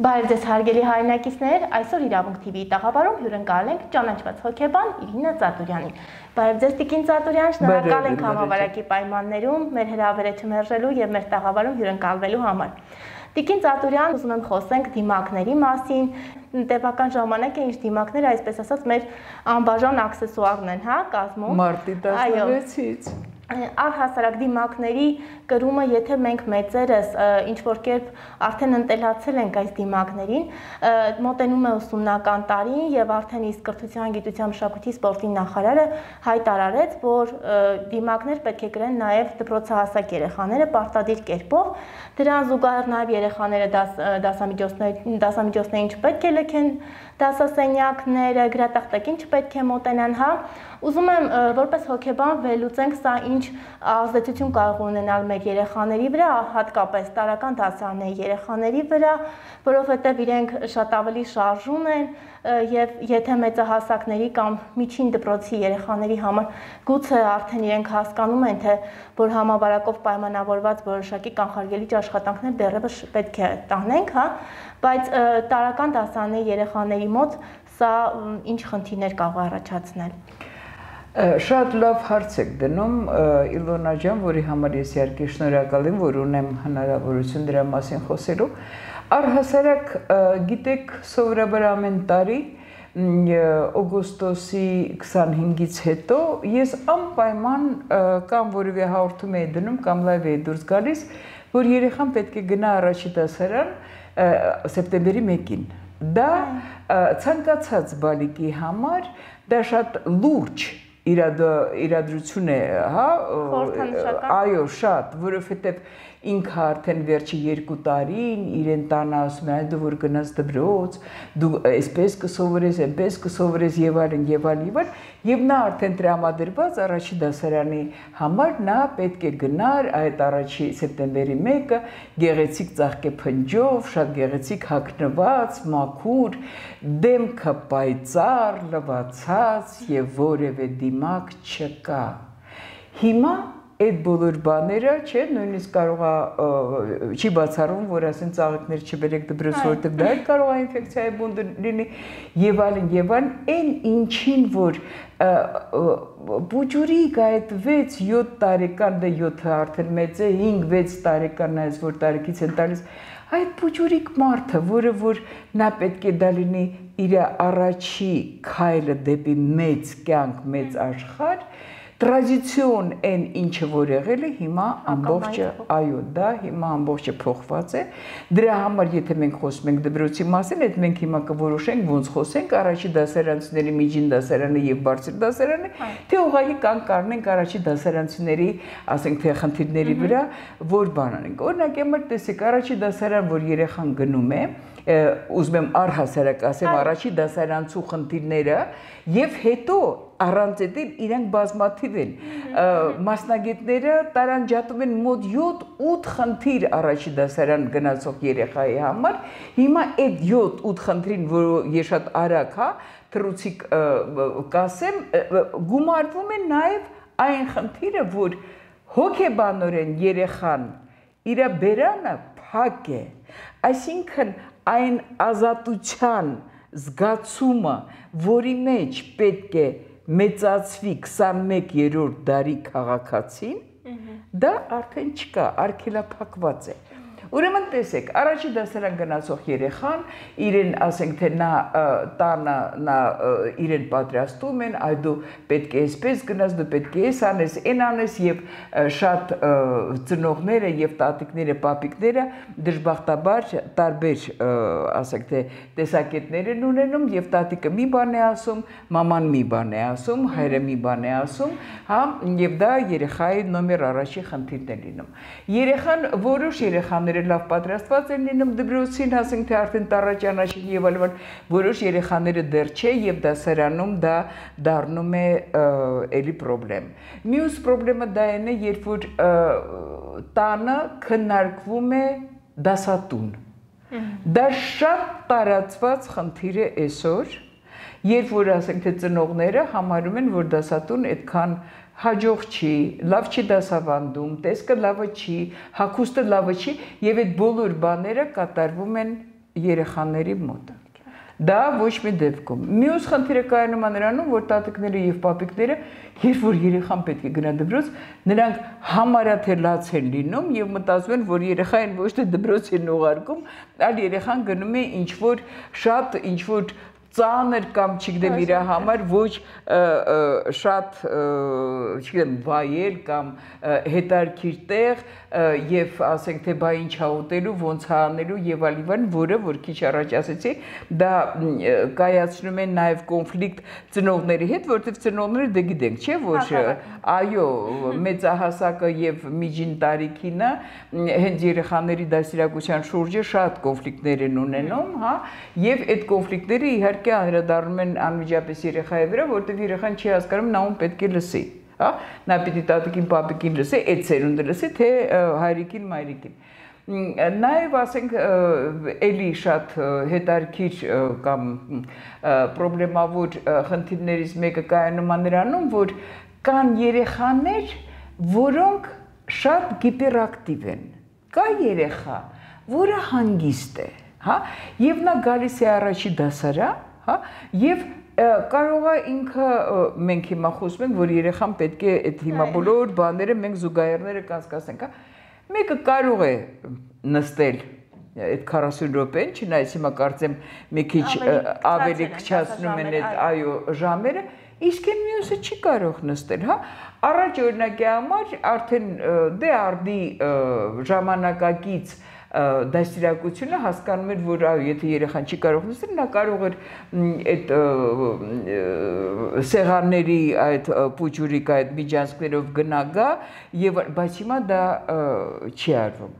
Բարև ձեզ հարգելի հայրենակիցներ, այսօր Իրավունք TV-ի տաղավարում հյուրընկալել ենք ճանաչված հոգեբան Իրինա Ծատուրյանին։ Բարև ձեզ Տիկին Ծատուրյան, շնորհակալ ենք համավարակի պայմաններում մեր հրավերը չմերժելու եւ մեր տաղավարում հյուրընկալվելու համար։ Տիկին Ծատուրյան, ուզում եմ խոսենք դիմակների մասին, տևական ժամանակ է ինչ դիմակները, այսպես ասած, մեր անբաժան աքսեսուարն են, հա, կազմում։ Մարտի 16-ից Առհասարակ դիմակների կրումը, եթե մենք մեծերս ինչ-որ կերպ արդեն ընտելացել ենք այս դիմակներին, մոտենում է ուսումնական տարին եւ արդեն իսկ կրթության, գիտության, մշակույթի, սպորտի նախարարը հայտարարեց, որ դիմակներ պետք է գրեն նաեւ դպրոցահասակ երեխաները պարտադիր կերպով, դրան զուգահեռ նաեւ երեխաները դասամիջոցներին չպետք է լքեն դասասենյակները, գրատախտակին չպետք է մոտենան, հա։ Ուզում եմ որպես հոգեբան վերլուծենք սա ինչ ազդեցություն կարող ունենալ մեր երեխաների վրա, հատկապես տարրական դասարանների երեխաների վրա, որովհետև իրենք շատ ավելի շարժուն են եւ եթե մեծահասակների կամ միջին դպրոցի երեխաների համար գուցե արդեն իրենք հասկանում են, թե որ համավարակով պայմանավորված որոշակի կանխարգելիչ աշխատանքներ դեռևս պետք է տանենք, հա, բայց տարրական դասարանների երեխաների մոտ սա ինչ խնդիրներ կարող առաջացնել։ Շատ լավ հարց եք դնում Իլոնա ջան, որի համար ես իհարկե շնորհակալ եմ, որ ունեմ հնարավորություն դրա մասին խոսելու։ Առհասարակ գիտեք, սովորաբար ամեն տարի օգոստոսի 25-ից հետո ես անպայման կամ որևէ հաղորդում էի դնում կամ լայվ էի դուրս գալիս, որ երեխան պետք է գնա առաջի դասարան սեպտեմբերի 1-ին։ Դա ցանկացած բալիկի համար դա շատ լուրջ իրադրություն է, հա, այո, շատ, որովհետև ինքը արդեն վերջի 2 տարին իրեն տանը ասում է, դու որ գնաս դպրոց, դու այսպես կսովորես, այնպես կսովորես եւ այլն, եւ նա արդեն տրամադրված առաջի դասարանի համար նա պետք է գնար այդ առաջի սեպտեմբերի 1-ը գեղեցիկ ծաղկե փնջով, շատ գեղեցիկ հագնված, մաքուր, դեմքը պայծառ, լվացած եւ որևէ դիմակ չկա։ Հիմա այդ բոլոր բաները, չէ, նույնիսկ կարող է չի բացառում, որ ասեն ծաղիկներ չբերեք դպրոց, որտեղ դա կարող է ինֆեկցիայի բունտ լինի եւ այլն, այն ինչին որ բուջուրիկ այդ 6-7 տարեկան, դա 7-ը արդեն մեծ է, 5-6 տարեկան այս որ տարեկից են տալիս, այդ բուջուրիկ մարդը, որը որ նա պետք է դա լինի իր առաջի քայլը դեպի մեծ կյանք, մեծ աշխարհ, տրադիցիոն այն ինչը որ եղել է հիմա ամբողջը, այո, դա հիմա ամբողջը փոխված է։ Դրա համար եթե մենք խոսում ենք դպրոցի մասին, այդ մենք հիմա կորոշենք ոնց խոսենք առաջի դասարանցիների միջին դասարանը եւ բարձր դասարանը, թե ուղղակի կան կառնենք առաջի դասարանցիների, ասենք թե խնդիրների վրա, որ բան անենք։ Օրինակ, եմը տեսեք, առաջի դասարան, որ երեխան գնում է, ուզում եմ առհասարակ ասեմ առաջի դասարանցու խնդիրները եւ հետո առանց այդ իրենք բազմաթիվ են մասնագետները տարանջատում են մոտ 7-8 խնդիր առաջի դասարան գնացող երեխայի համար հիմա այդ 7-8 խնդրին որ ես շատ արագ հա թռուցիկ կասեմ գումարվում է նաեւ այն խնդիրը որ հոգեբանորեն երեխան իր բերանը փակ է այսինքն այն ազատության զգացումը, որի մեջ պետք է մեծացվի 21-րդ դարի քաղաքացին, դա արդեն չկա, արգելափակված է։ Ուրեմն տեսեք, առաջի դասարան գնացող երեխան, իրեն ասենք թե նա տանը նա իրեն պատրաստում են, այ դու պետք է այսպես գնաս, դու պետք է այս անես, այն անես եւ շատ ծնողները եւ տատիկները, պապիկները դժբախտաբար տարբեր ասենք թե տեսակետներ են ունենում եւ տատիկը մի բան է ասում, մաման մի բան է ասում, հայրը մի բան է ասում, հա, եւ դա երեխայի նոմեր առաջի խնդիրն է լինում։ Երեխան որոշ երեխաներ լավ պատրաստված են լինում դպրոցին, ասենք թե արդեն տառաճանաչին եւ այլն, որոշ երեխաները դեռ չէ եւ դասարանում դա դառնում է էլի խնդրեմ։ Մյուս խնդրեմը դա է, երբ որ տանը քննարկվում է դասատուն։ Դա շատ տարածված խնդիր է այսօր, երբ որ ասենք թե ծնողները համարում են, որ դասատուն այդքան հաջող չի, լավ չի դասավանդում, տեսքը լավը չի, հագուստը լավը չի, եւ այդ բոլոր բաները կատարվում են երեխաների մոտ։ Դա ոչ մի դեպքում։ Մյուս խնդիրը կայանում է նրանում, որ տատիկները եւ պապիկները, երբ որ երեխան պետք է գնա դպրոց, նրանք համարյա թե լաց են լինում եւ մտածում են, որ երեխային ոչ թե դպրոց են ուղարկում, այլ երեխան գնում է ինչ որ շատ ինչ որ ծանր կամ չգիտեմ իր համար ոչ շատ չգիտեմ վայել կամ հետարքիր տեղ եւ ասենք թե բա ինչ ա ուտելու ոնց ա անելու եւ այլն որը որ քիչ առաջ ասեցի դա կայացնում են նաեւ կոնֆլիկտ ծնողների հետ որովհետեւ ծնողները դե գիտենք չէ որ այո մեծահասակը եւ միջին տարիքինը հենց երեխաների դաստիարակության շուրջը շատ կոնֆլիկտներ են ունենում հա եւ այդ կոնֆլիկտները իհարկե անդրադառնում են անմիջապես երեխայի վրա, որտեղ երեխան չի հասկանում նա ում պետք է լսի, հա, նա պիտի տատիկին, պապիկին լսի, այդ սերունդը լսի, թե հայրիկին, մայրիկին։ Նաև ասենք էլի շատ հետարքիր կամ պրոբլեմավոր խնդիրներից մեկը կայանում է նրանում, որ կան երեխաներ, որոնք շատ գիպերակտիվ են։ Կա երեխա, որը հանգիստ է, հա, եւ նա գալիս է առաջի դասարան Եվ կարող է ինքը մենք հիմա խոսում ենք, որ երեխան պետք է այդ հիմա բոլոր բաները մենք զուգահեռները կանցկացնենք, մեկը կարող է նստել այդ 40 րոպեն, չնայած հիմա կարծեմ մի քիչ ավելի քչացնում են այդ այո ժամերը, իսկ այն մյուսը չի կարող նստել, հա։ Առաջ օրինակի համար արդեն դե արդի ժամանակակից դաստիարակությունը հասկանում էր, որ եթե երեխան չի կարող նստել, նա կարող էր այդ սեղանների այդ պուջուրիկ այդ միջանցքներով գնա գա եւ բայց հիմա դա չի արվում։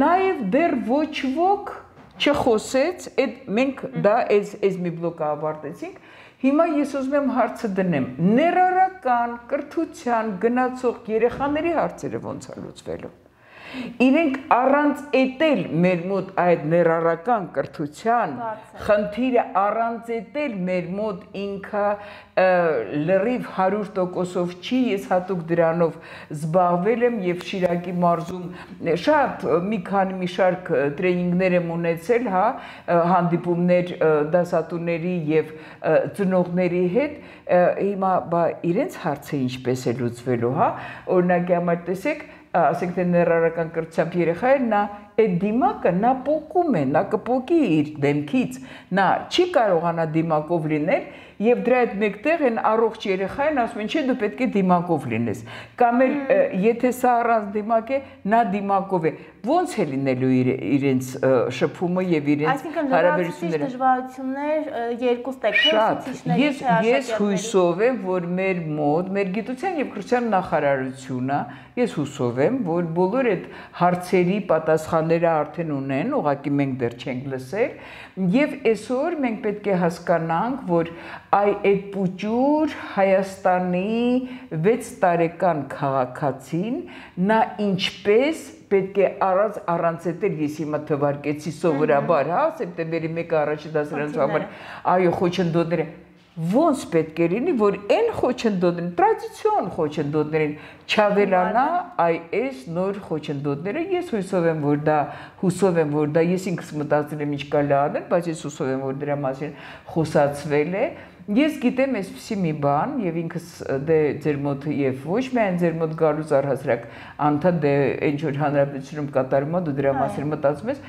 Նաեւ դեռ ոչ ոք չխոսեց, այդ մենք դա այս մի բլոկը ավարտեցինք։ Հիմա ես ուզում եմ հարցը դնեմ, ներառական կրթության գնացող երեխաների հարցերը ոնց է լուծվելու։ Իրենք առանց էտել մեր մոտ այդ ներառական կրթության խնդիրը առանց էտել մեր մոտ ինքը լրիվ 100%-ով չի, ես հատուկ դրանով զբաղվել եմ եւ Շիրակի մարզում շատ մի շարք տրեյնինգներ եմ ունեցել, հա, հանդիպումներ դասատուների եւ ծնողների հետ, հիմա բա իրենց հարցը ինչպես է լուծվելու, հա, օրինակի համար տեսեք ասենք թե ներառական կրթությամբ երեխային նա այդ դիմակը նա պոկում է, նա կպոկի իր դեմքից, նա չի կարողանա դիմակով լինել եւ դրա հետ մեկտեղ են առողջ երեխային ասում են չէ դու պետք է դիմակով լինես կամ էլ եթե սա առանց դիմակ է նա դիմակով է ոնց է լինելու իրենց շփումը եւ իրենց հարաբերությունները դժվարություններ երկու ստեքների ես հույսով եմ որ մեր մոտ մեր գիտության եւ կրթության նախարարությունը ես հուսով եմ որ բոլոր այդ հարցերի պատասխանները արդեն ունեն ուղղակի մենք դեռ չենք լսել եւ այսօր մենք պետք է հասկանանք որ այդ պուճուր Հայաստանի 6 տարեկան քաղաքացին նա ինչպես պետք է առանց էտել ես հիմա թվարկեցի սովորաբար հա սեպտեմբերի 1-ը առաջի դասարանից համար այո խոչընդոտները ոնց պետք է լինի որ այն խոչընդոտներին տրադիցիոն խոչընդոտներին չավելանա այս նոր խոչընդոտները ես հուսով եմ որ դա ես ինքս մտածել եմ ինչ կարելի անել բայց ես հուսով եմ որ դրա մասին խոսացվել է Ես գիտեմ այսպիսի մի բան եւ ինքս դե ձեր մոտ եւ ոչ միայն ձեր մոտ գալուց առհասարակ անդադ դե ինչ որ հանրապետությունում կատարում է դու դրա մասին մտածում ես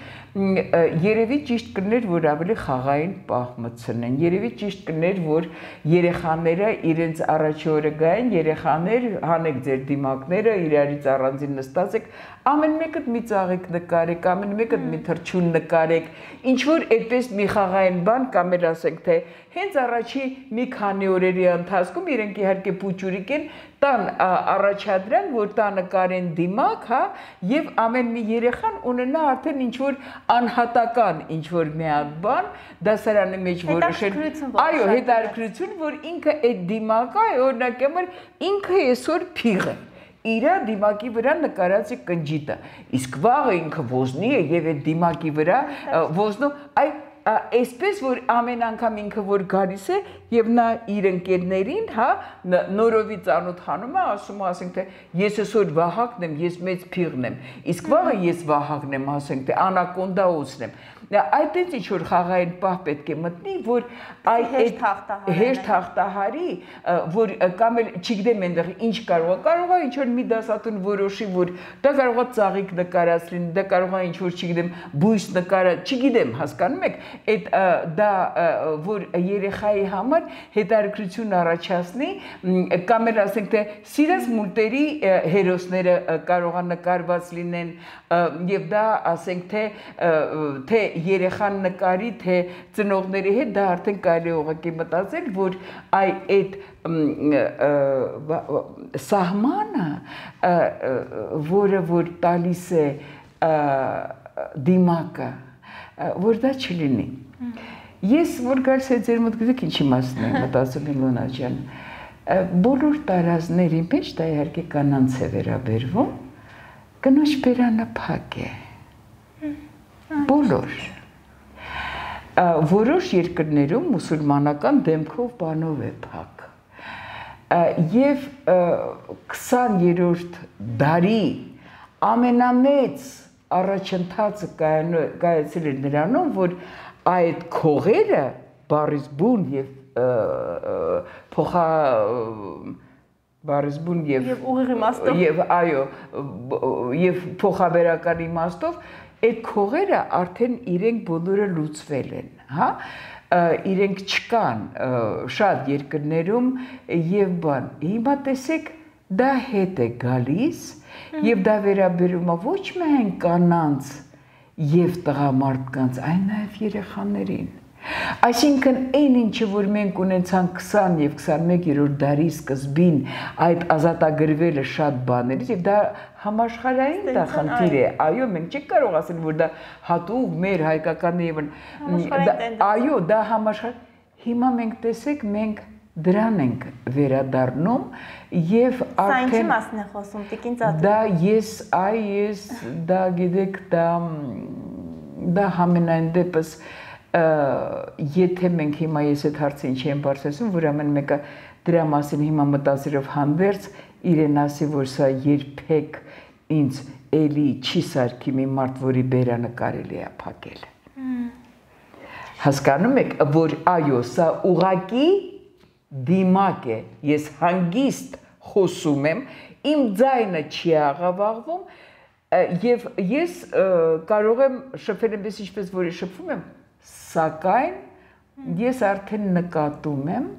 երևի ճիշտ կներ որ ավելի խաղային պահ մտցնեն երևի ճիշտ կներ որ երեխաները իրենց առաջի օրը գային երեխաներ հանեք ձեր դիմակները իրարից առանձին նստած եք ամեն մեկը մի ծաղիկ նկարեք ամեն մեկը մի թռչուն նկարեք ինչ որ այդպես մի խաղային բան կամ էլ ասենք թե հենց առաջի մի քանի օրերի ընթացքում իրենք իհարկե պուճուրիկ են տան առաջադրեն որ տա նկարեն դիմակ հա եւ ամեն մի երեխան ունենա արդեն ինչ որ անհատական ինչ որ մի հատ բան դասարանի մեջ որոշել այո հետաքրքրություն որ ինքը այդ դիմակը օրինակ համար ինքը այսօր փիղ է իրա դիմակի վրա նկարած է կնջիտը իսկ վաղը ինքը ոզնի է եւ այդ դիմակի վրա ոզնու այ այսպես որ ամեն անգամ ինքը որ գալիս է եւ նա իր ընկերներին, հա, նորովի ծանոթանում է, ասում է, ասենք թե ես այսօր Վահագնն եմ, ես մեծ փիղն եմ, իսկ վաղը ես Վահագնն եմ, ասենք թե Անակոնդա Օսն եմ։ Այդտենց ինչ որ խաղային պահ պետք է մտնի, որ այդ հեշտ հաղթահարի, որ կամ էլ չգիտեմ այնտեղ ինչ կարող է ինչ որ մի դասատուն որոշի, որ դա կարող է ծաղիկ նկարած լինի, դա կարող է ինչ որ չգիտեմ բույս նկարած, չգիտեմ, հասկանում եք, այդ դա որ երեխայի համար հետաքրքրություն առաջացնի, կամ էլ ասենք թե սիրած մուլտերի հերոսները կարող է նկարված լինեն, եւ դա ասենք թե երեխան նկարի, թե ծնողների հետ դա արդեն կարելի է ուղղակի մտածել, որ այդ սահմանը, որը որ տալիս է դիմակը, որ դա չլինի։ Ես որ գալիս է ձեր մոտ գիտեք ինչի մասն եմ մտածում Իլոնա ջան, բոլոր տարազների մեջ դա իհարկե կանանց է վերաբերվում, կնոջ բերանը փակ է։ Բոլոր որոշ երկրներում մուսուլմանական դեմքով բանով է փակ եւ 20-րդ դարի ամենամեծ առաջընթացը կայացել է նրանում, որ այդ քողերը բառից բուն եւ բառիզբուն եւ ուղիղ իմաստով եւ այո եւ փոխաբերական իմաստով այդ քողերը արդեն իրենք բոլորը լուծվել են, հա, իրենք չկան շատ երկրներում եւ բան։ Հիմա տեսեք, դա հետ է գալիս եւ դա վերաբերում է ոչ միայն կանանց եւ տղամարդկանց, այլ նաեւ երեխաներին։ Այսինքն այն ինչը որ մենք ունեցանք 20 եւ 21-րդ դարի սկզբին այդ ազատագրվելը շատ բաներից եւ դա համաշխարհային դա խնդիր է, այո, մենք չենք կարող ասել որ դա հատուկ մեր հայկական եւ այո, դա համաշխարհ։ Հիմա մենք տեսեք, մենք դրան ենք վերադառնում եւ արդեն Սա ինչի մասն է խոսում, Տիկին Ծածկ։ Դա ես դա գիտեք, դա համենայն դեպս եթե մենք հիմա ես այդ հարցը ինչի եմ բարձրացնում, որ ամեն մեկը դրա մասին հիմա մտածելով հանդերձ իրեն ասի, որ սա երբեք ինձ էլի չի սարքի մի մարդ, որի բերանը կարելի է փակել։ Հասկանում եք, որ այո, սա ուղակի դիմակ է, ես հանգիստ խոսում եմ, իմ ձայնը չի աղավաղվում եւ ես կարող եմ շփվել այնպես ինչպես որ շփվում եմ, սակայն ես արդեն նկատում եմ,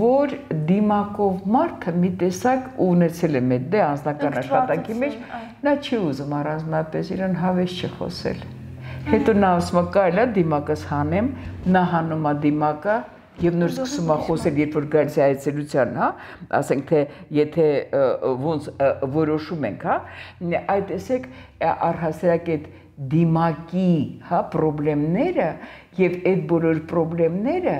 որ դիմակով մարդը մի տեսակ ունեցել է մեծ դե անձնական աշխատանքի մեջ, նա չի ուզում առանձնապես իրեն հավես չխոսել։ Հետո նա ասում է կարելի է դիմակս հանեմ, նա հանում է դիմակը եւ նոր սկսում է խոսել, երբ որ գալիս է այցելության, հա, ասենք թե եթե ոնց որոշում ենք, հա, այդ տեսեք առհասարակ այդ դիմակի, հա, պրոբլեմները եւ այդ բոլոր պրոբլեմները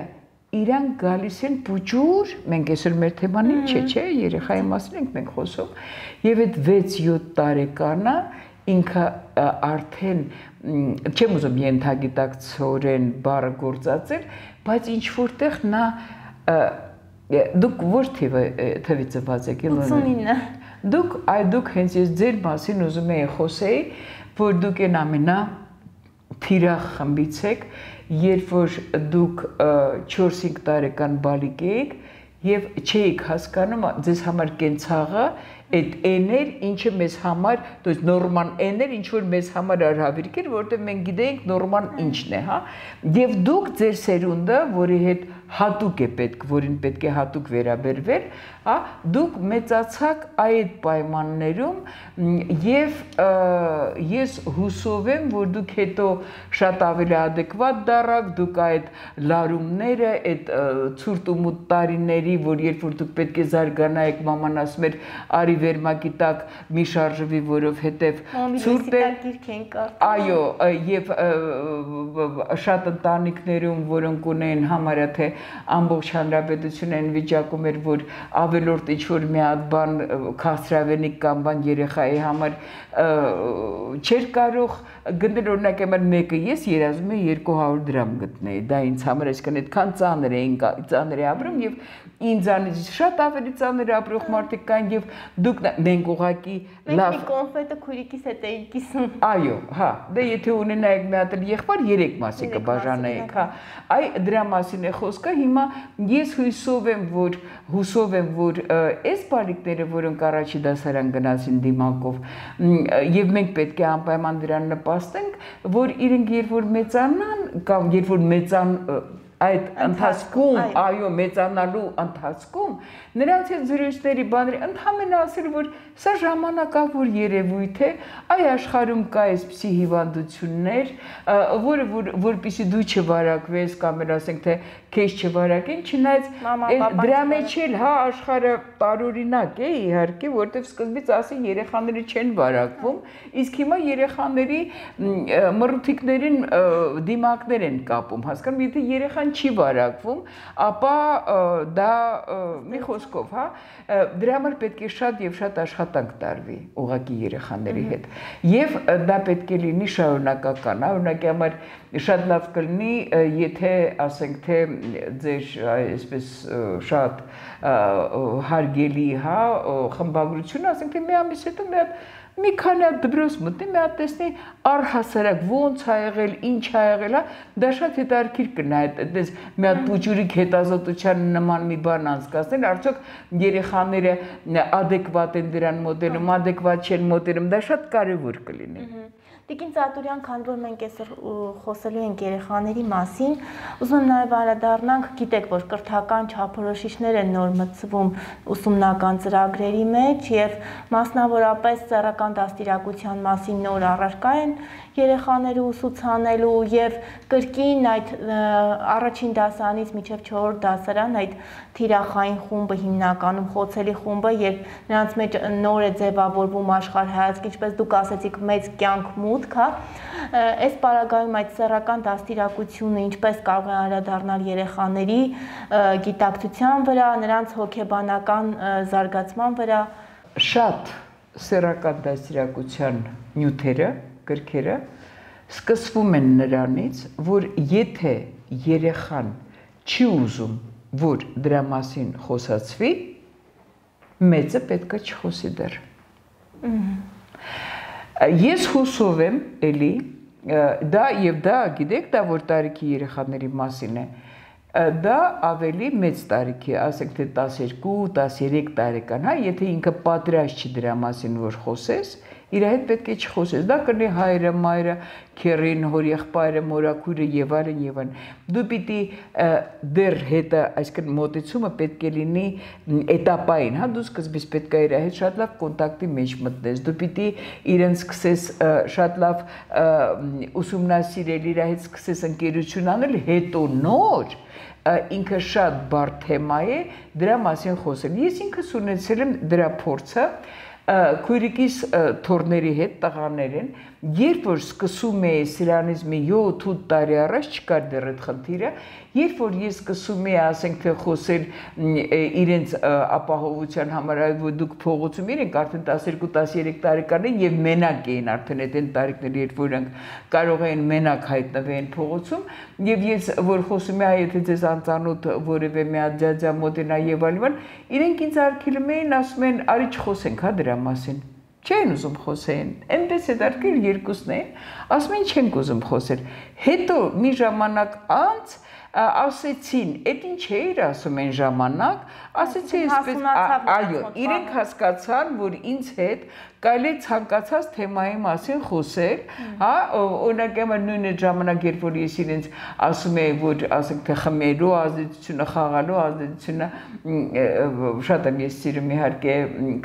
իրանք գալիս են փուճուր, մենք այսօր մեր թեման ինչ է, չէ, երեխայի մասին ենք մենք խոսում, եւ այդ 6-7 տարեկանը ինքը արդեն չեմ ուզում ենթագիտակցորեն բառը գործածել, բայց ինչ որտեղ նա դուք որ թվի ծված եք, 89։ Դուք հենց ես ձեր մասին ուզում եի խոսեի, որ դուք են ամենա թիրախ խմբից եք, երբ որ դուք 4-5 տարեկան բալիկ էիք եւ չէիք հասկանում ձեզ համար կենցաղը այդ էներ, ինչը մեզ համար, то есть նորման էներ, ինչ որ մեզ համար արհավիրք էր, որովհետեւ մենք գիտեինք նորման ինչն է, հա։ Եվ դուք ձեր սերունդը, որի հետ հատուկ է պետք, որին պետք է հատուկ վերաբերվել, հա, դուք մեծացաք այդ պայմաններում եւ ես հուսով եմ, որ դուք հետո շատ ավելի adekvat դառաք, դուք այդ լարումները, այդ ցուրտ ու մութ տարիների, որ երբ որ դուք պետք է զարգանայիք, մաման ասում էր, արի բարի վերմակի տակ մի շարժվի, որովհետև ցուրտ է։ Այո, եւ շատ ընտանիքներում, որոնք ունեն համարյա թե ամբողջ հանրապետությունը այն վիճակում էր, որ ավելորդ ինչ-որ մի հատ բան քաղցրավենիք կամ բան երեխայի համար չէր կարող գնել, օրինակ եմար մեկը ես երազում եմ 200 դրամ գտնեի, դա ինձ համար այսքան այդքան ծանր է ապրում եւ ինձանից շատ ավելի ծանր ապրող մարդիկ կան եւ դուք մենք ուղակի լավ կոնֆետը քուրիկիս հետ էի կիսում։ Այո, հա, դե եթե ունենայիք մի հատ եղբայր 3 մասի կբաժանեիք, հա։ Այ դրա մասին է խոսքը։ Հիմա ես հուսով եմ, որ այս բարիկները, որոնք առաջի դասարան գնացին դիմակով, եւ մենք պետք է անպայման դրան նպաստենք, որ իրենք երբ որ մեծանան կամ երբ որ այդ ընթացքում, այո, մեծանալու ընթացքում նրանց հետ զրույցների բաների ընդհանրապես ասել, որ սա ժամանակավոր երևույթ է, այ աշխարհում կա այսպիսի հիվանդություններ, որպեսզի դու չվարակվես կամ ասենք թե քեզ չվարակեն, չնայած դրա մեջ էլ հա աշխարհը տարօրինակ է իհարկե, որտեղ սկզբից ասեն երեխաները չեն վարակվում, իսկ հիմա երեխաների մռութիկներին դիմակներ են կապում, հասկանում, եթե երեխան չի վարակվում, ապա դա մի խոսքով, հա, դրա համար պետք է շատ եւ շատ աշխատանք տարվի ուղղակի երեխաների հետ։ Եվ դա պետք է լինի շարունակական, հա, օրինակի համար շատ լավ կլինի, եթե ասենք թե ձեր այսպես շատ հարգելի, հա, խմբագրություն, ասենք թե մի ամիս հետո մի քանի հատ դպրոց մտնի, մի հատ տեսնի առհասարակ ոնց ա եղել, ինչ ա եղել, դա շատ հետաքրքիր կնա, այդպես մի հատ փուճուրիկ հետազոտության նման մի բան անցկացնել, արդյոք երեխաները ադեկվատ են դրան մոտենում, ադեկվատ չեն մոտենում, դա շատ կարևոր կլինի։ Տիկին Ծատուրյան, քանի որ մենք այսօր խոսելու ենք երեխաների մասին, ուզում եմ նաև անդրադառնանք, գիտեք, որ կրթական չափորոշիչներ են նոր մտցվում ուսումնական ծրագրերի մեջ եւ մասնավորապես սեռական դաստիարակության մասին նոր առարկա են երեխաները ուսուցանելու եւ կրկին այդ առաջին դասարանից մինչեւ 4-րդ դասարան այդ թիրախային խումբը հիմնականում խոցելի խումբը, երբ նրանց մեջ նոր է ձևավորվում աշխարհայացք, ինչպես դուք ասեցիք, մեծ կյանք մուտք, հա, այս պարագայում այդ սեռական դաստիարակությունը ինչպես կարող է անդրադառնալ երեխաների գիտակցության վրա, նրանց հոգեբանական զարգացման վրա։ Շատ սեռական դաստիարակության նյութերը, գրքերը սկսվում են նրանից, որ եթե երեխան չի ուզում, որ դրա մասին խոսացվի, մեծը պետք է չխոսի դեռ։ Ես հուսով եմ, էլի, դա գիտեք, դա որ տարիքի երեխաների մասին է, դա ավելի մեծ տարիքի, ասենք թե 12-13 տարեկան, հա, եթե ինքը պատրաստ չի դրա մասին, որ խոսես, իր հետ պետք է չխոսես, դա կլինի հայրը, մայրը, քեռին, հորեղբայրը, մորաքույրը եւ այլն եւ այլն։ Դու պիտի դեռ հետը, այսինքն մոտեցումը պետք է լինի էտապային, հա, դու սկզբից պետք է իր հետ շատ լավ կոնտակտի մեջ մտնես, դու պիտի իրեն սկսես շատ լավ ուսումնասիրել, իր հետ սկսես ընկերություն անել, հետո նոր ինքը շատ բարդ թեմա է դրա մասին խոսել։ Ես ինքս ունեցել եմ դրա փորձը քույրիկիս թորների հետ տղաներ են, երբ որ սկսում է սրանից մի 7-8 տարի առաջ չկար դեռ այդ խնդիրը, երբ որ ես սկսում եմ ասենք թե խոսել իրենց ապահովության համար, որ դուք փողոցում իրենք արդեն 12-13 տարեկան են եւ մենակ էին արդեն այդ տարիքները, երբ որ կարող էին մենակ հայտնվեն փողոցում, եւ ես որ խոսում եմ, եթե ձեզ անծանոթ որևէ մի հատ ջաջա մոտենա եւ այլն, իրենք ինձ արգելում էին, ասում են, արի չխոսենք հա դրա մասին։ Չեն ուզում խոսեն, այնպես է դարձել երկուսն են, ասում են չենք ուզում խոսել։ Հետո մի ժամանակ անց ասեցին, այդ ինչ էր ասում են ժամանակ, ասեցի այսպես, այո, իրենք հասկացան, որ ինձ հետ կարելի է ցանկացած թեմայի մասին խոսել, հա, օրինակ նույն այդ ժամանակ, երբ որ ես իրենց ասում եմ, որ ասենք թե խմելու ազդեցությունը, խաղալու ազդեցությունը, շատ եմ ես սիրում իհարկե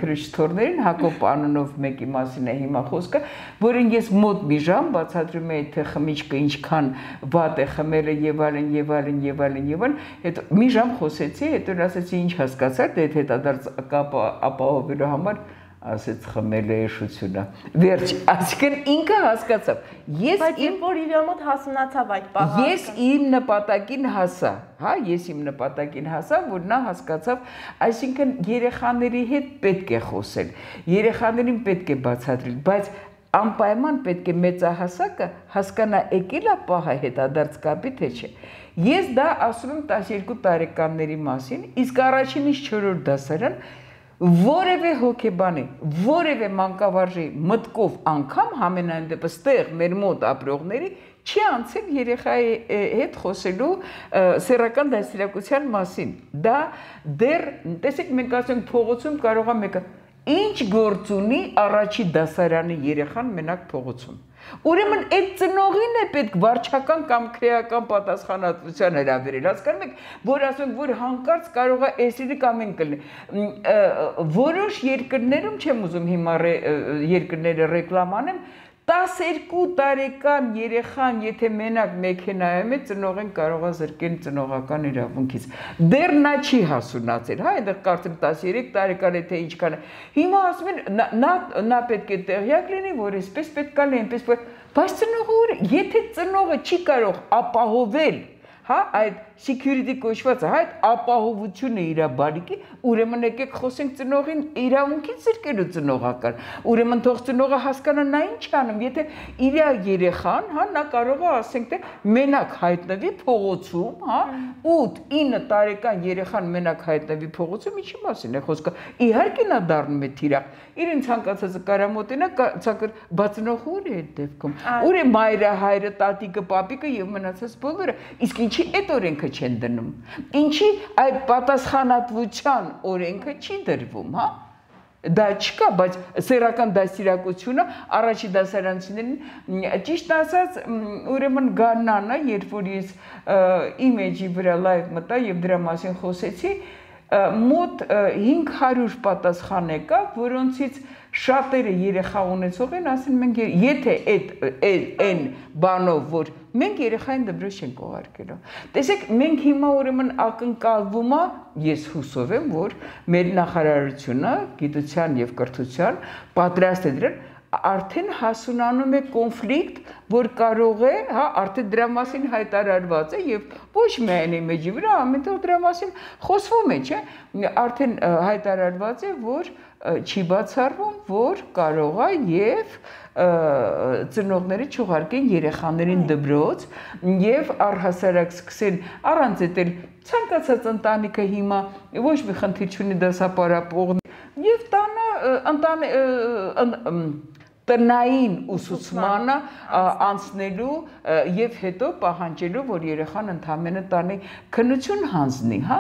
քրիստորներին, Հակոբ անունով մեկի մասին է հիմա խոսքը, որին ես մոտ մի ժամ բացատրում եմ, թե խմիչքը ինչքան վատ է խմելը եւ այլն եւ այլն եւ այլն եւ այլն, հետո մի ժամ խոսեցի, հետո ասեցի ինչ հասկացա, թե հետադարձ կապը ապահովելու համար ասեց խմել է էշությունը։ Վերջ, այսինքն ինքը հասկացավ։ Բայց երբ որ իր մոտ հասունացավ այդ պահը։ Ես իմ նպատակին հասա, հա, ես իմ նպատակին հասա, որ նա հասկացավ, այսինքն երեխաների հետ պետք է խոսել, երեխաներին պետք է բացատրել, բայց անպայման պետք է մեծահասակը հասկանա եկել է պահը հետադարձ կապի թե չէ։ Ես դա ասում եմ 12 տարեկանների մասին, իսկ առաջինից 4-րդ դասարան որևէ հոգեբանի, որևէ մանկավարժի մտքով անգամ համենայն դեպս տեղ մեր մոտ ապրողների չի անցել երեխայի հետ խոսելու սեռական դաստիարակության մասին։ Դա դեռ, տեսեք, մենք ասում ենք փողոցում կարող է մեկը ինչ գործ ունի առաջի դասարանի երեխան մենակ փողոցում։ Ուրեմն այդ ծնողին է պետք վարչական կամ քրեական պատասխանատվության հրավիրել, հասկանում եք, որ ասում որ հանկարծ կարող է էսիրի կամ են կլինի։ Որոշ երկրներում չեմ ուզում հիմա երկրները ռեկլամ անեմ, 12 տարեկան երեխան, եթե մենակ մեքենայում է, ծնողին կարող է զրկել ծնողական իրավունքից։ Դեռ նա չի հասունացել, հա, այնտեղ կարծեմ 13 տարեկան է թե ինչքան է։ Հիմա ասում են նա պետք է տեղյակ լինի, որ այսպես պետք է լինի, այնպես, բայց ծնողը, եթե ծնողը չի կարող ապահովել, հա, այդ security կոչվածը, հա, այդ ապահովությունը իր բալիկի, ուրեմն եկեք խոսենք ծնողին իրավունքից զրկելու ծնողական։ Ուրեմն թող ծնողը հասկանա նա ինչ անում, եթե իր երեխան, հա, նա կարող է ասենք թե մենակ հայտնվի փողոցում, հա, 8-9 տարեկան երեխան մենակ հայտնվի փողոցում, ինչի մասին է խոսքը։ Իհարկե նա դառնում է թիրախ։ Իրեն ցանկացածը կարամոտենա, բացնող ուր է այդ դեպքում։ Ուր է մայրը, հայրը, տատիկը, պապիկը եւ մնացած բոլորը։ Իսկ ինչի այդ օրենքը չեն դնում։ Ինչի այդ պատասխանատվության օրենքը չի դրվում, հա։ Դա չկա, բայց սեռական դաստիարակությունը առաջի դասարանցիներին, ճիշտ ասած, ուրեմն Գաննանը, երբ որ ես իմ էջի վրա լայվ մտա եւ դրա մասին խոսեցի, մոտ 500 պատասխան եկավ, որոնցից շատերը երեխա ունեցող են, ասեն մենք եթե այն բանով, որ մենք երեխային դպրոց չենք ուղարկելու։ Տեսեք, մենք հիմա ուրեմն ակնկալվում է, ես հուսով եմ, որ մեր նախարարությունը գիտության եւ կրթության պատրաստ է դրան, արդեն հասունանում է կոնֆլիկտ, որ կարող է, հա, արդեն դրա մասին հայտարարված է եւ ոչ միայն իմեջի վրա, ամենտեղ դրա մասին խոսվում է, չէ՞, արդեն հայտարարված է, որ չի բացառվում, որ կարող է եւ ծնողները չուղարկեն երեխաներին դպրոց եւ առհասարակ սկսեն առանց էտել ցանկացած ընտանիքը հիմա ոչ մի խնդիր չունի դասապարապող եւ տնային ուսուցմանը անցնելու եւ հետո պահանջելու, որ երեխան ընդամենը տանի քննություն հանձնի, հա,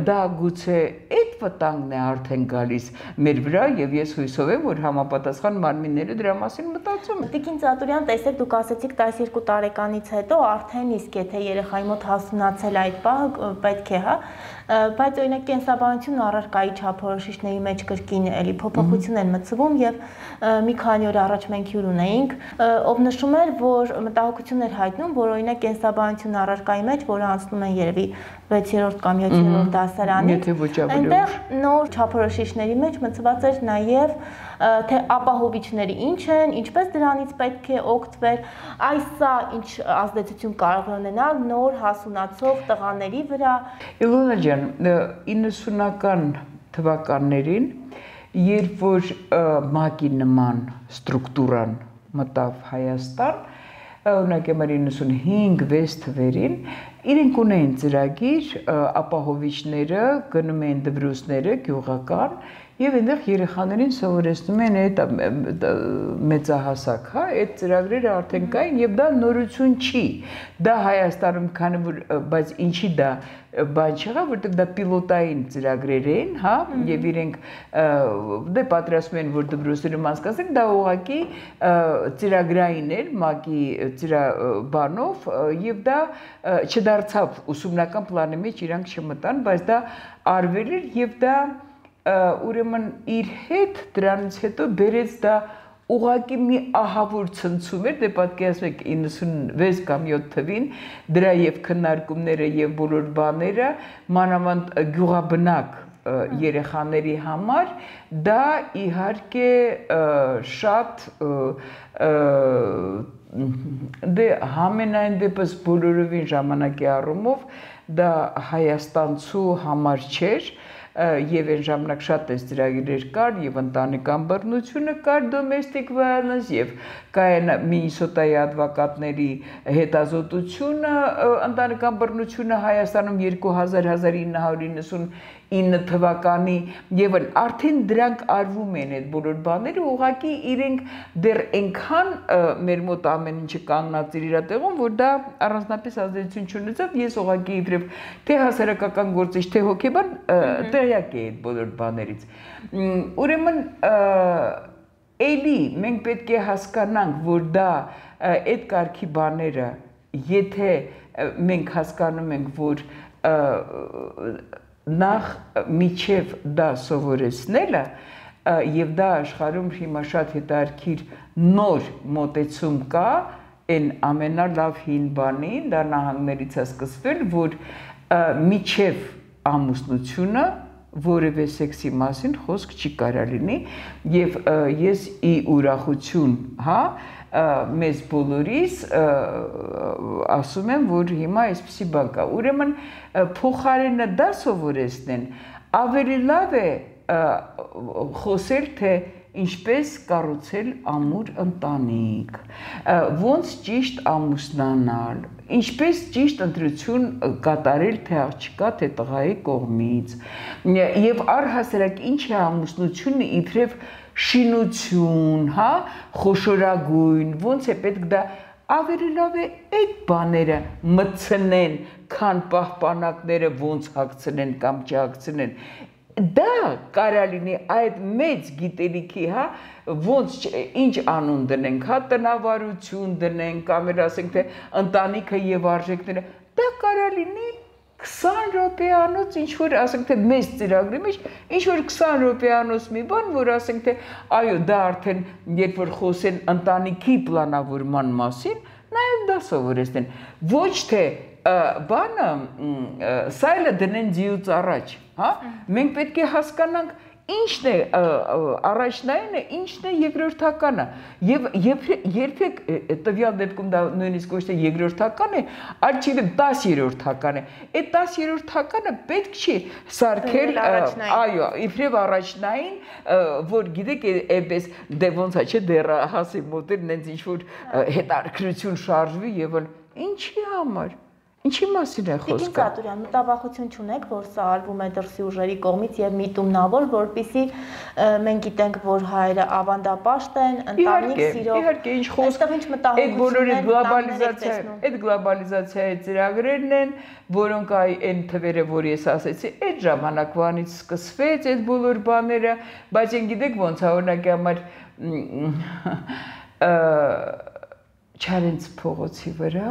դա գուցե այդ վտանգն է արդեն գալիս մեր վրա եւ ես հույսով եմ, որ համապատասխան մարմինները դրա մասին մտածում են։ Տիկին Ծատուրյան, տեսեք, դուք ասեցիք 12 տարեկանից հետո արդեն իսկ եթե երեխայի մոտ հասունացել այդ պահը պետք է, հա, բայց օրինակ կենսաբանություն առարկայի չափորոշիչների մեջ կրկին էլի փոփոխություն են մտցվում եւ մի քանի օր առաջ մենք հյուր ունեինք, ով նշում էր, որ մտահոգություն էր հայտնում, որ օրինակ կենսաբանություն առարկայի մեջ, որը անցնում են երևի 6-րդ կամ 7-րդ դասարանից, այնտեղ նոր չափորոշիչների մեջ մտցված էր նաեւ թե ապահովիչները ինչ են, ինչպես դրանից պետք է օգտվել, այս ինչ ազդեցություն կարող է ունենալ նոր հասունացող տղաների վրա։ Իլոնա ջան, 90-ական թվականներին, երբ որ ՄԱԿ-ի նման ստրուկտուրան մտավ Հայաստան, օրինակ 95-6 թվերին, իրենք ունեին ծրագիր, ապահովիչները գնում էին դպրոցները գյուղական եւ այնտեղ երեխաներին սովորեցնում են այդ մեծահասակ, հա, այդ ծրագրերը արդեն կային եւ դա նորություն չի։ Դա Հայաստանում քանի որ բայց ինչի դա բան չեղավ, որտեղ դա պիլոտային ծրագրեր էին, հա, եւ իրենք դե պատրաստում են որ դպրոցներում անցկացնեն, դա ուղղակի ծրագրային էր ՄԱԿ-ի բանով եւ դա չդարձավ ուսումնական պլանի մեջ իրանք չմտան, բայց դա արվել էր եւ դա ուրեմն իր հետ դրանից հետո բերեց դա ուղղակի մի ահավոր ցնցում էր, դե պատկերացրեք 96 կամ 7 թվին դրա եւ քննարկումները եւ բոլոր բաները մանավանդ գյուղաբնակ երեխաների համար դա իհարկե շատ դե համենայն դեպս բոլորովին ժամանակի առումով դա հայաստանցու համար չէր եւ այն ժամանակ շատ էս ծրագրեր կար եւ ընտանեկան բռնությունը կար domestic violence եւ կային Մինիսոտայի advokatների հետազոտությունը ընտանեկան բռնությունը Հայաստանում 2000-1999 թվականի եւ արդեն դրանք արվում են այդ բոլոր բաները ուղղակի իրենք դեռ այնքան մեր մոտ ամեն ինչը կանգնած իր տեղում որ դա առանձնապես ազդեցություն չունեցավ ես ուղղակի իբրև թե հասարակական գործիչ թե հոգեբան տեղյակ էի այդ բոլոր բաներից ուրեմն էլի մենք պետք է հասկանանք որ դա այդ կարգի բաները եթե մենք հասկանում ենք որ նախ միջև դա սովորեցնելը եւ դա աշխարհում հիմա շատ հետաքրքիր նոր մոտեցում կա այն ամենալավ հին բանին դա նահանգներից է սկսվել որ միջև ամուսնությունը որևէ սեքսի մասին խոսք չի կարա լինի եւ ես ի ուրախություն հա մեզ բոլորիս ասում եմ որ հիմա այսպեսի բան կա ուրեմն փոխարենը դա սովորեցնեն ավելի լավ է խոսել թե ինչպես կառուցել ամուր ընտանիք ոնց ճիշտ ամուսնանալ ինչպես ճիշտ ընտրություն կատարել թե աղջկա թե տղայի կողմից եւ առհասարակ ինչ է ամուսնությունը իբրև շինություն հա խոշորագույն ոնց է պետք դա ավելի լավ է այդ բաները մտցնեն քան պահպանակները ոնց հագցնեն կամ չհագցնեն դա կարա լինի այդ մեծ գիտելիքի հա ոնց ինչ անուն դնենք հա տնավարություն դնենք կամ ասենք թե ընտանիքը եւ արժեքները դա կարա լինի 20 րոպեանոց ինչ որ ասենք թե մեծ ծրագրի մեջ ինչ որ 20 րոպեանոց մի բան որ ասենք թե այո դա արդեն երբ որ խոսեն ընտանիքի պլանավորման մասին նաեւ դա սովորեցնեն ոչ թե բանը սայլը դնեն ձիուց առաջ հա մենք պետք է հասկանանք ինչն է առաջնայինը ինչն է երկրորդականը եւ երբեք տվյալ դեպքում դա նույնիսկ ոչ թե երկրորդական է այլ չգիտեմ 10-րդական է այդ 10-րդականը պետք չի սարքել այո իբրև առաջնային որ գիտեք այնպես դե ոնց է չէ դեռ հասի մոտել նենց ինչ որ հետաքրքրություն շարժվի եւ ինչի համար Ինչի մասին է խոսքը։ Տիկին Ծատուրյան, մտավախություն չունեք, որ սա արվում է դրսի ուժերի կողմից եւ միտումնավոր, որպեսզի մենք գիտենք, որ հայերը ավանդապաշտ են, ընտանիք սիրող։ Իհարկե, ինչ խոսք։ Այստեղ ինչ մտահոգություն է, այդ գլոբալիզացիայի ծրագրերն են, որոնք այն թվերը, որ ես ասեցի, այդ ժամանակվանից սկսվեց այդ բոլոր բաները, բայց են գիտեք ոնց է օրինակի համար Չարենց փողոցի վրա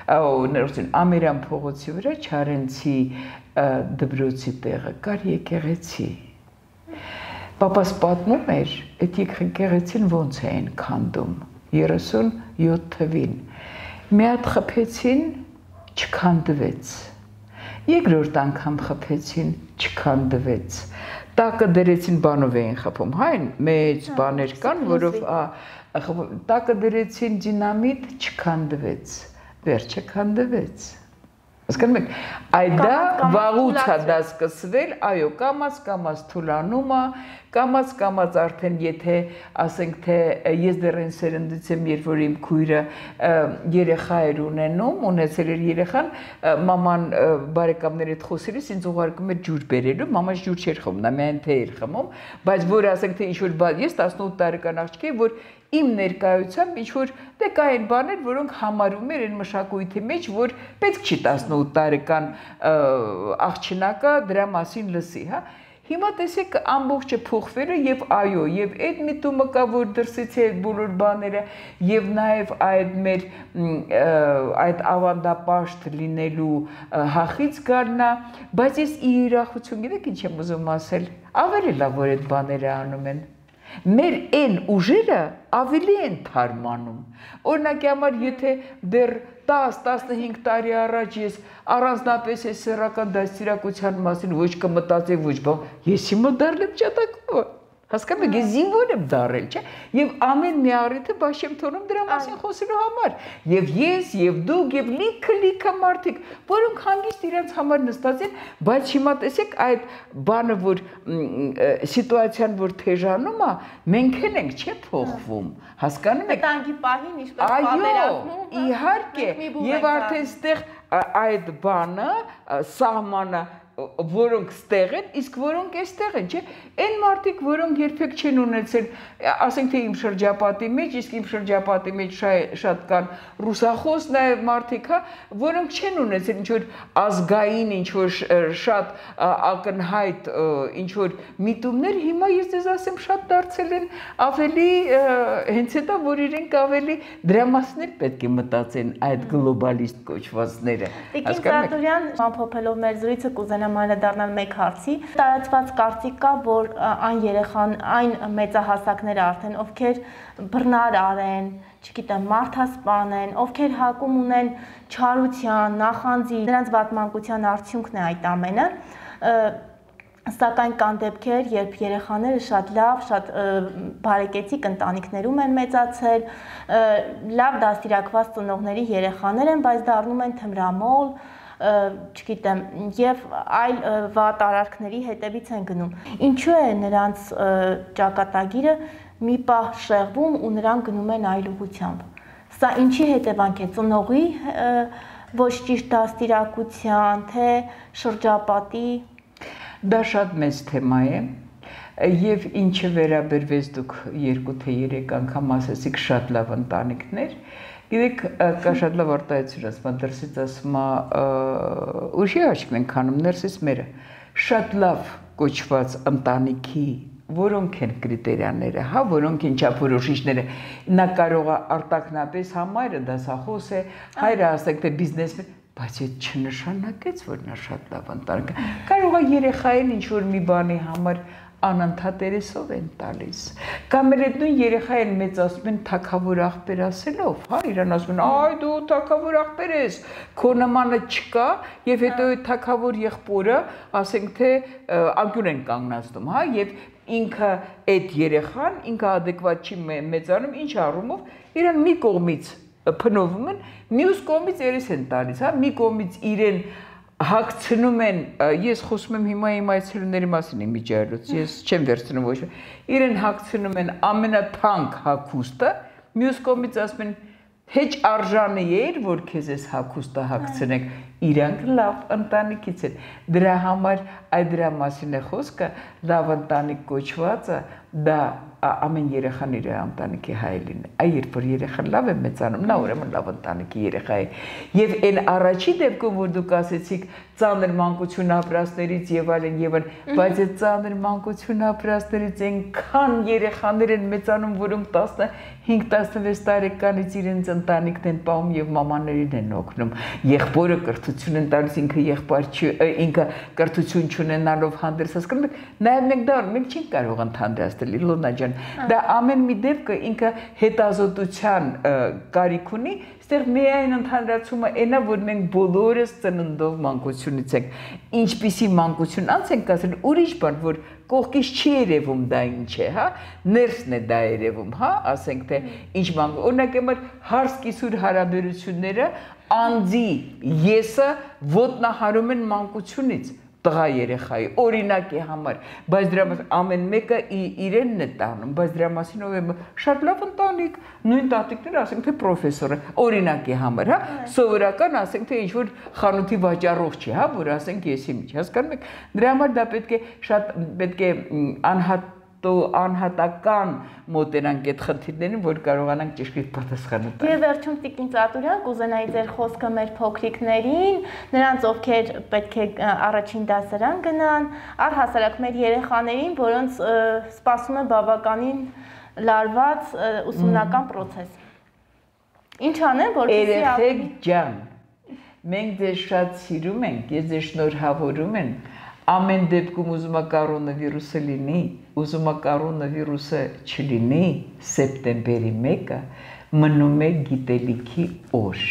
Ամերյան փողոցի վրա Չարենցի դպրոցի տեղը կար եկեղեցի։ Պապաս պատմում էր, այդ եկեղեցին ոնց էին քանդում 37 թվին։ Մի հատ խփեցին, չքանդվեց։ Երկրորդ անգամ խփեցին, չքանդվեց։ Տակը դրեցին բանով էին խփում, հայն մեծ բաներ կան, որով տակը դրեցին դինամիտ, չքանդվեց։ Վերջը քանդվեց։ Հասկանում եք, այդա վաղուց է դա սկսվել, այո, կամաց թուլանում է, կամաց արդեն եթե ասենք թե ես դեռ այն սերնդից եմ, երբ որ իմ քույրը երեխա էր ունեցել էր երեխան, մաման բարեկամների հետ խոսելիս ինձ ուղարկում էր ջուր բերելու, մաման ջուր չէր խմում, նա միայն թե էր խմում, բայց որ ասենք թե ինչ որ ես 18 տարեկան աղջիկ եմ, որ իմ ներկայությամբ ինչ որ դե կային բաներ, որոնք համարում էր այն մշակույթի մեջ, որ պետք չի 18 տարեկան աղջնակը դրա մասին լսի, հա։ Հիմա տեսեք ամբողջը փոխվել է եւ այո, եւ այդ միտումը կա, որ դրսից է այդ բոլոր բաները եւ նաեւ այդ մեր այդ ավանդապաշտ լինելու հախից գարնա, բայց ես իրախություն գիտեք ինչ եմ ուզում ասել, ավելի լավ որ այդ բաները անում են։ Մեր այն ուժերը ավելի են թարմանում։ Օրինակի համար, եթե դեռ 10-15 տարի առաջ ես առանձնապես այս սեռական դաստիարակության մասին ոչ կմտածեի, ոչ բան, ես հիմա դառնեմ ճատակով։ Հասկանում եք, ես զինվոր եմ դառել, չէ՞։ Եվ ամեն մի առիթը բաց եմ թողնում դրա մասին խոսելու համար։ Եվ ես, եւ դուք, եւ լիքը մարդիկ, որոնք հանգիստ իրենց համար նստած են, բայց հիմա տեսեք այդ բանը, որ սիտուացիան, որ թեժանում է, մենք ենք, չէ՞, փոխվում։ Հասկանում եք։ Տանկի պահին ինչպես պատերազմում։ Այո, իհարկե, եւ արդեն ստեղ այդ բանը, սահմանը որոնք ստեղ են, իսկ որոնք էստեղ են, չէ՞։ Այն մարդիկ, որոնք երբեք չեն ունեցել, ասենք թե իմ շրջապատի մեջ, իսկ իմ շրջապատի մեջ շատ կան ռուսախոս նաև մարդիկ, հա, որոնք չեն ունեցել ինչ-որ ազգային, ինչ-որ շատ ակնհայտ ինչ-որ միտումներ, հիմա ես ձեզ ասեմ, շատ դարձել են ավելի հենց հետո, որ իրենք ավելի դրա մասին պետք է մտածեն այդ գլոբալիստ կոչվածները։ Տիկին Ծառատուրյան, ամփոփելով մեր զրույցը կուզենամ անդրադառնալ մեկ հարցի։ Տարածված կարծիք կա, որ այն մեծահասակները արդեն, ովքեր բռնարար են, չգիտեմ, մարդասպան են, ովքեր հակում ունեն չարության, նախանձի, նրանց վատմանկության արդյունքն է այդ ամենը։ Սակայն կան դեպքեր, երբ երեխաները շատ լավ, շատ բարեկեցիկ ընտանիքներում են մեծացել, լավ դաստիարակված ծնողների երեխաներ են, բայց դառնում են թմրամոլ, չգիտեմ, եւ այլ վատ արարքների հետևից են գնում։ Ինչու է նրանց ճակատագիրը մի պահ շեղվում ու նրանք գնում են այլ ուղղությամբ։ Սա ինչի հետևանք է, ծնողի ոչ ճիշտ դաստիարակության, թե շրջապատի։ Դա շատ մեծ թեմա է, եւ ինչը վերաբերվեց դուք 2 թե 3 անգամ ասացիք շատ լավ ընտանիքներ, գիտեք, կա շատ լավ արտահայտություն ասում, դրսից ասում է ուժի աչք ենք անում, ներսից մերը, շատ լավ կոչված ընտանիքի, որոնք են կրիտերիաները, հա, որոնք են չափորոշիչները, նա կարող է արտակնապես համայրը դասախոս է, հայրը ասեք թե բիզնեսմեն, բայց այդ չնշանակեց, որ նա շատ լավ ընտանիք է։ Կարող է երեխային ինչ-որ մի բանի համար անընդհատ երեսով են տալիս։ Կամ էլ այդ նույն երեխային մեծացնում են թագավոր աղբեր ասելով, հա, իրան ասում են, այ դու թագավոր աղբեր ես, քո նմանը չկա, եւ հետո այդ թագավոր եղբորը, ասենք թե անկյուն են կանգնացնում, հա, եւ ինքը այդ երեխան, ինքը adekvat չի մեծանում, ինչ առումով, իրան մի կողմից փնովում են, մյուս կողմից երես են տալիս, հա, մի կողմից իրեն հագցնում են, ես խոսում եմ հիմա իմ այցելուների մասին իմ միջայլոց, ես չեմ վերցնում ոչ, իրեն հագցնում են ամենաթանկ հագուստը, մյուս կողմից ասում են, հեչ արժանի էր, որ քեզ ես հագուստը հագցնեք, իրանք լավ ընտանիքից են, դրա համար այդ դրա մասին է խոսքը, լավ ընտանիք կոչվածը, դա ամեն երեխան իր ընտանիքի հայելին է, այ երբ որ երեխան լավ է մեծանում, նա ուրեմն լավ ընտանիքի երեխա է, եւ այն առաջի դեպքում, որ դուք ասեցիք ծանր մանկություն ապրածներից եւ այլն, բայց այդ ծանր մանկություն ապրածներից այնքան երեխաներ են մեծանում, որոնք 15-16 տարեկանից իրենց ընտանիքն են պահում եւ մամաներին են օգնում, եղբորը կրթություն են տալիս, ինքը կրթություն չունենալով հանդերձ, հասկանում եք, նաեւ մենք դա մենք չենք կարող ընդհանրացնել, Իլոնա ջան, դա ամեն մի դեպքը ինքը հետազոտության կարիք ունի, այստեղ միայն ընդհանրացումը այնա, որ մենք բոլորս ծննդով մանկությունից ենք, ինչպիսի մանկություն անց ենք ասել, ուրիշ բան, որ կողքից չի երևում դա ինչ է, հա, ներսն է դա երևում, հա, ասենք թե ինչ մանկություն, օրինակ համար հարս-կիսուր հարաբերությունները անձի եսը ոտնահարում են մանկությունից, տղա երեխայի, օրինակի համար, բայց դրա մասին ամեն մեկը իրենն է տանում, բայց դրա մասին ով է շատ լավ ընտանիք, նույն տատիկները ասենք թե պրոֆեսորը, օրինակի համար, հա, սովորական ասենք թե ինչ-որ խանութի վաճառող չի, հա, որ ասենք ես իմ, հասկանում եք, դրա համար դա պետք է անհատական մոտենանք այդ խնդիրներին, որ կարողանանք ճշգրիտ պատասխան տալ։ Եվ վերջում Տիկին Ծառատուրյան, կուզենայի ձեր խոսքը մեր փոքրիկներին, նրանց ովքեր պետք է առաջին դասարան գնան, առհասարակ մեր երեխաներին, որոնց սպասում է բավականին լարված ուսումնական պրոցես։ Ինչ անեն, որպեսզի երեխեք ջան, մենք ձեզ շատ սիրում ենք, ես ձեզ շնորհավորում եմ, ամեն դեպքում ուզում է կորոնավիրուսը լինի, ուզում է կորոնավիրուսը չլինի, սեպտեմբերի 1-ը մնում է գիտելիքի օր,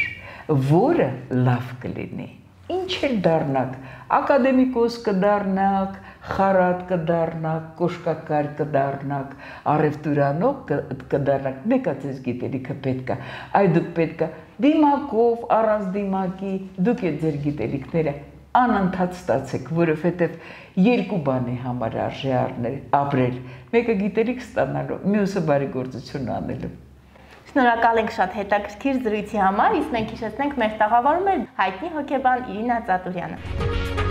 որը լավ կլինի։ Ինչ էլ դառնաք, ակադեմիկոս կդառնաք, խարատ կդառնաք, կոշկակար կդառնաք, առևտուրանող կդառնաք, մեկ է ձեզ գիտելիքը պետք է, այ դուք պետք է դիմակով, առանց դիմակի, դուք եք ձեր գիտելիքները անընդհատ ստացեք, որովհետև երկու բանի համար արժե ապրել, մեկը գիտելիք ստանալու, մյուսը բարեգործություն անելու։ Շնորհակալ ենք շատ հետաքրքիր զրույցի համար, իսկ մենք հիշեցնենք մեր տաղավարում էր հայտնի հոգեբան Իրինա Ծատուրյանը։